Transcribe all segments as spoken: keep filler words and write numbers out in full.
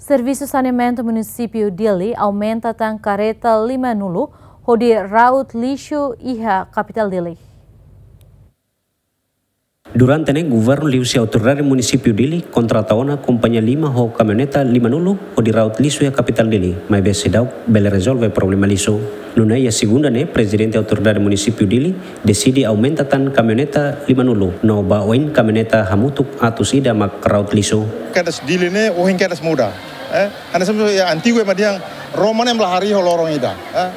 Servisu Saneamentu Munisípiu Dili aumenta tan kareta limanulu hodi raut lixu iha kapitál Dili. Durante ne'e, governu liuhusi Autoridade Munisípiu Dili kontrata ona kompañia lima ho kamioneta limanulu hodi raut lixu iha kapitál Dili, maibé seidauk bele rezolve problema lixu. Nune'e iha segunda ne'e, Prezidente Autoridade Munisípiu Dili deside aumenta tan kamioneta limanulu, no ba oin kamioneta hamutuk atus ida mak raut lixu. Kedas Dili ne'e, ohin kedas muda. Eh, hanesan iha antigu ema dehan Roma ne'e ema la harii ho loron ida. Eh,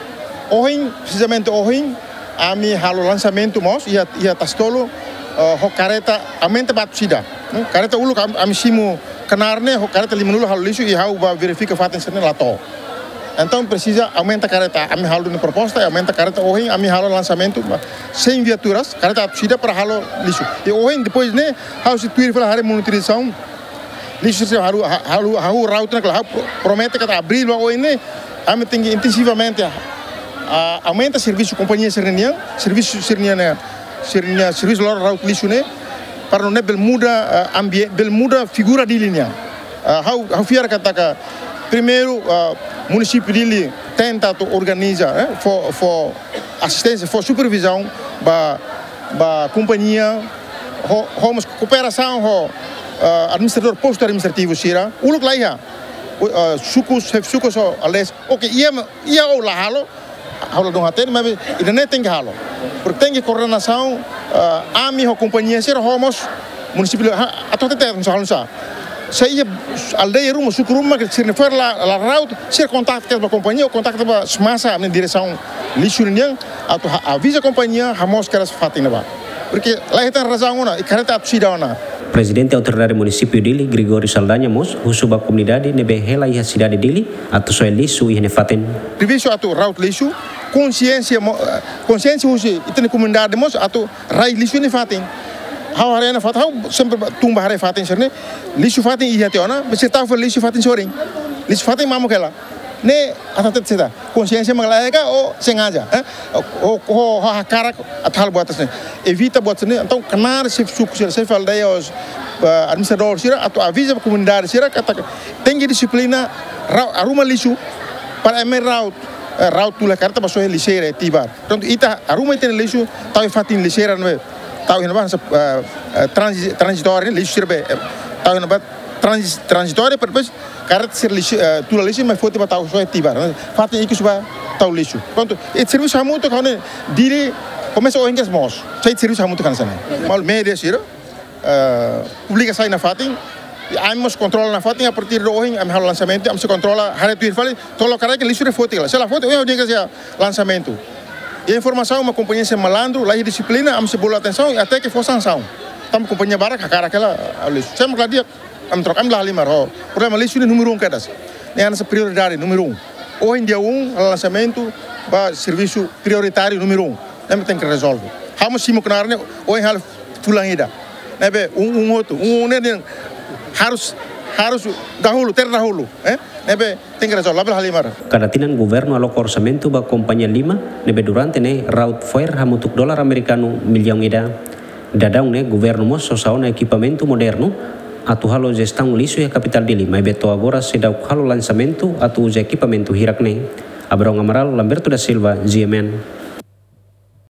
ohin, presizamente ohin, ami halo lansamentu mós, iha, iha Tasi Tolu, eh, ho kareta aumenta ba atus ida. Hmm, kareta uluk am-, ami simu knaar ne'e, ho kareta limanulu halo lixu, i ha'u ba verifika fatin sira-ne'e la to'o. Entaun presiza aumenta kareta, ami halo duni proposta, aumenta kareta ohin, ami halo lansamentu, ba sein viaturas, kareta atus ida para halo lixu. I ohin, depois ne'e, ha'u sei tuir fali haree monitorizasaun, lixu sira ha'u, ha-, ha'u, ha'u raut ona kala, ha'u pro-, promete katak abríl ba oin ne'e, ami tenke intensivamente, ah, aumenta servisu kompañia sira-nian, servisu sira-nian ne'e, sira-nian servisu loro raut lixu ne'e, para nune'e bele muda, ah, ambie-, bele muda figura Dili nian. Ah, ha'u, ha'u fiar katak primeiru, ah, munisípiu Dili tenta atu organiza, eh, fó, fó asisténsia, fó supervizaun ba, ba kompañia, ho, ho mós kooperasaun ho, ah, administradór postu administrativu sira, uluk la iha. U-, ah, sukus, xefe sukus ho aldeias, oke, iha ma-, iha ou la halo, ha'u ladún hatene, maibé ida-ne'e tenke halo. Porke tenke koordenasaun, ah, ami ho kompañia sira ho mós munisípiu, ha, atu hatete, atu halo sá. Se iha aldeia ruma, suku ruma, ke sira-nia fo'er la, la raut, sira kontaktu ba kompañia, ou kontaktu ba SMASA, ami-nia diresaun lixu nian, atu ha-, aviza kompañia, hamoos kedas fatin ne'ebá. Porke la hetan razaun ona, i kareta atus ida ona. Prezidente Autoridade Munisípiu Dili, Gregório Saldanha mós husu ba komunidade ne'ebé hela iha sidade Dili atu soe lixu iha nia fatin. Servisu atu raut lixu, konsiénsia mo-, eh, konsiénsia husi ita-nia komunidade mós atu rai lixu nia fatin. Ha'u haree ona fatin, ha'u sempre ba-, tun ba haree fatin sira-ne'e. Lixu fatin iha tiha ona, maibé sira tau fali lixu fatin sorin. Lixu fatin mamuk hela. Ne'e atu hatete saida? Konsiénsia mak la iha ka ou sengaja, eh? Ou, ou, ou hakarak atu halo buat sira-ne'e. Evita buat sira-ne'e. Entaun knaar xefe suku sira, xefe aldeia, os, eh, administradór sira, atu aviza ba komunidade sira, katak tenke dixiplina, ra-, arruma lixu, para ema raut, eh, raut tula kareta ba soe lixeira, eh, tibar. Portantu, ita arruma ita-nia lixu, tau iha fatin lixeira, ne'ebé tau iha ne'ebá, eh, eh, transi-, tranzitóriu, lixu sira be, eh, tau iha ne'ebá, transi-, tranzitóriu, para depois, kareta sira lixu, eh, tula lixu, maibé foti ba tau soe tibar, ne'e. Fatin ikus ba tau lixu. Portantu, ita servisu hamutuk, ha'u hanoin, Dili, komesa ohin kedas moos. Sai servisu hamutuk hanesan ne'e. Malu média sira, eh, publika sai nafatin, i ami mós kontrola nafatin, a partir de ohin, ami halo lansamentu, ami sei kontrola, haree tuir fali, to'o lokarai ke lixu ne'e foti ka lae. Se la foti, ohin ha'u dehan katak iha lansamentu. I informasaun mak kompañia sira malandru, la iha dixiplina, ami sei bolu atensaun, até ke fó sansaun. Tanba kompañia barak hakarak hela, ah, lixu. Se mak la di'ak, ami troka, ami la halimar ho. Problema lixu ne'e númeru um kedas. Ne'e hanesan prioridade númeru um. Ohin dia um, lansamentu, ba servisu prioritáriu númeru um. Ne'e mak tenke rezolve. Ha'u mós simu knaar ne'e, ohin halo fulan ida. Ne'ebé, um, um hotu, um, um ne'e, ne'e harus, harus dahulu, terdahulu, eh? Ne'ebé, tenke rezolve, labele halimar. Kada tinan governu aloka orsamentu ba kompañia lima, ne'ebé durante ne'e raut fo'er hamutuk dolar amerikanu millaun ida. Daudaun ne'e governu mós sosa ona ekipamentu modernu atu halo jestaun lixu iha kapitál Dili, maibé to'o agora seidauk halo lansamentu atu uza ekipamentu hirak ne'e. Abrão Amaral, Lamberto da Silva, G M N.